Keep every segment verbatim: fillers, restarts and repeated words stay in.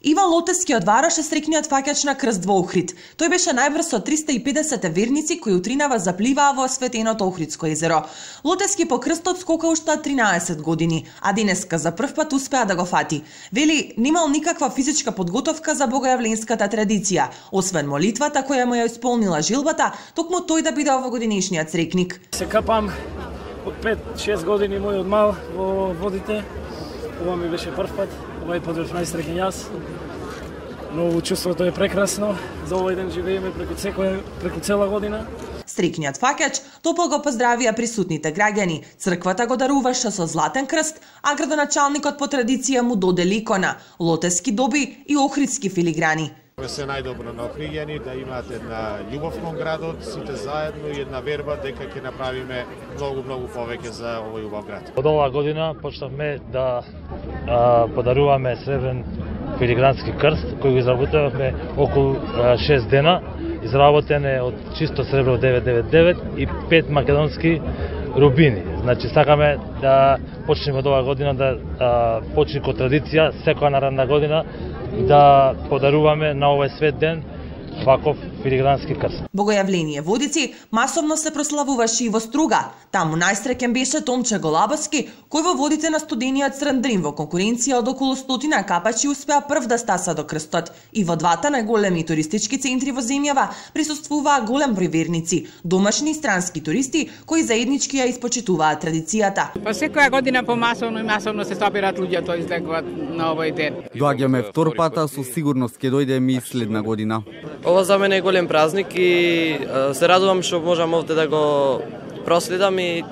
Иван Лотески од Вараш е среќниот фаќач на крст во Охрид. Тој беше најбрз од триста и педесет верници кои утринава запливаа во осветеното Охридско езеро. Лотески по крстот скока уште тринаесет години, а денеска за прв пат успеа да го фати. Вели, немал никаква физичка подготовка за богојавленската традиција, освен молитвата која му ја исполнила жилбата, токму тој да биде овогодинешниот срекник. Се капам од пет-шест години мој од мал во водите. Ова ми беше прв пат, овај пат бев најсреќен јас. Но чувството е прекрасно, за овој ден живееме преку секоја, преку цела година. Стрикниот фаќач топол го поздравија присутните граѓани. Црквата го даруваше со златен крст, а градоначалникот по традиција му додели икона. Лотески доби и охридски филиграни. Се најдобро на Охриѓани, да имате една љубов кон градот, сите заедно и една верба дека ќе направиме многу многу повеќе за овој убав град. Од оваа година почнавме да а, подаруваме сребрен филигрански крст кој го изработувавме околу шест дена. Изработен е од чисто сребро девет девет девет и пет македонски рубини. Значи сакаме да почнеме од оваа година да а, почне ко традиција секоја наредна година да подаруваме на овој свет ден ваков филигрански крст. Богојавление Водици масовно се прославуваше и во Струга. Таму најсреќен беше Томче Голабовски, кој во водите на студениот Црндрин во конкуренција од околу стотина капачи успеа прв да стаса до крстот. И во двата најголеми туристички центри во земјава присуствуваа голем број верници, домашни и странски туристи кои заеднички ја испочитуваат традицијата. Па секоја година помасовно и масовно се собираат луѓето излегуваат на овој ден. Доаѓаме втор пат, а со сигурност ќе дојдеме и следна година. Ова за мене е голем празник и се радувам што можам овде да го проследам и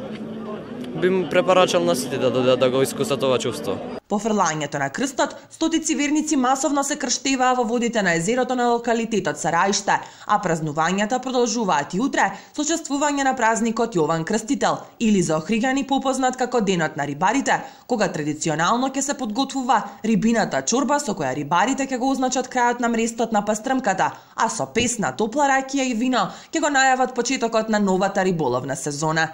би му препорачал на сите да додат да го искусат ова чувство. По фрлањето на крстот, стотици верници масовно се крштеваа во водите на езерото на локалитетот Сараиште, а празнувањата продолжуваат и утре со чествување на празникот Јован Крстител, или за охриѓани попознат како Денот на рибарите, кога традиционално ќе се подготвува рибината чорба со која рибарите ќе го означат крајот на мрестот на пастрмката, а со песна, топла ракија и вино ќе го најават почетокот на новата риболовна сезона.